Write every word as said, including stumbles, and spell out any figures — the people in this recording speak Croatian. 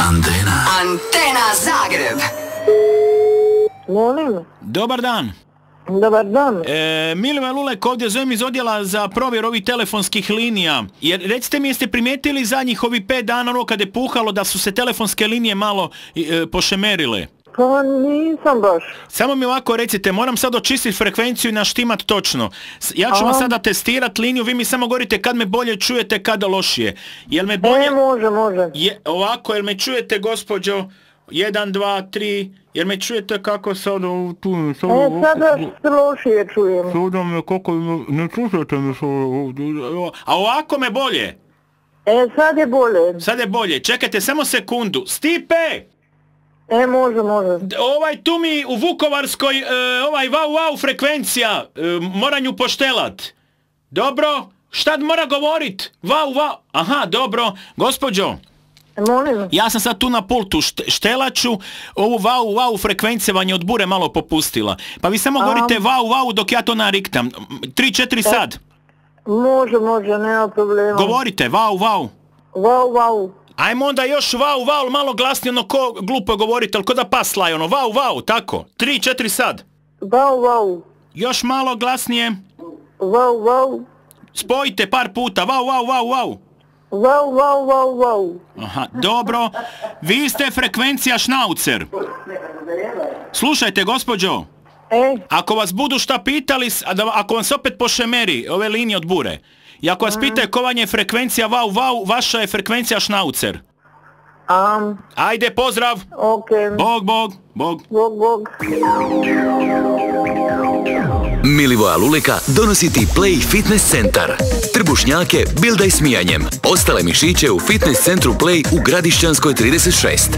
Antena. Antena Zagreb. Molim. Dobar dan. Dobar dan. E, Milivoj Lulek ovdje zovem iz odjela za provjeru ovih telefonskih linija. Jer recite mi, jeste primijetili zadnjih ovih pet dana ono kad je puhalo da su se telefonske linije malo e, pošemerile? Pa nisam baš. Samo mi ovako recite, moram sad očistiti frekvenciju i naštimat točno. Ja ću vam sada testirat liniju, vi mi samo govorite kad me bolje čujete, kada lošije. Jel me bolje... E, može, može. Je, ovako, jel me čujete, gospođo? jedan, dva, tri, jer me čujete kako sada tu... Sada, e, sada se lošije čujem. Sada me kako... Ne čujete me sada... A ovako me bolje? E, sad je bolje. Sad je bolje. Čekajte, samo sekundu. Stipe! E, može, može. Ovaj tu mi u Vukovarskoj, e, ovaj vau vau frekvencija, e, moram ju poštelat. Dobro? Šta mora govorit? Vau vau. Aha, dobro. Gospođo. Molim. Ja sam sad tu na pultu, štelaču, ovu vau vau frekvencija vam je od bure malo popustila. Pa vi samo govorite vau vau dok ja to nariktam. tri četiri sad. E, može, može, nema problema. Govorite, vau vau. Vau vau. Ajmo onda još vau vau, malo glasnije, ono ko glupo govorite, ali ko da pas laje, ono vau vau, tako. tri četiri sad. Vau vau. Još malo glasnije. Vau vau. Spojite par puta, vau vau vau vau. Vau, vau, vau, vau. Aha, dobro. Vi ste frekvencija šnaucer. Slušajte, gospođo. E? Ako vas budu šta pitali, ako vam se opet pošemeri ove linije od bure, i ako vas pitaju ko vam je frekvencija vau, vau, vaša je frekvencija šnaucer. Um, Ajde, pozdrav. Ok. Bog, bog, bog. Bog, bog. Milivoja Luleka donosi ti Play Fitness centar. Trbušnjake bildaj smijanjem. Ostale mišiće u fitness centru Play u Gradišćanskoj trideset šest.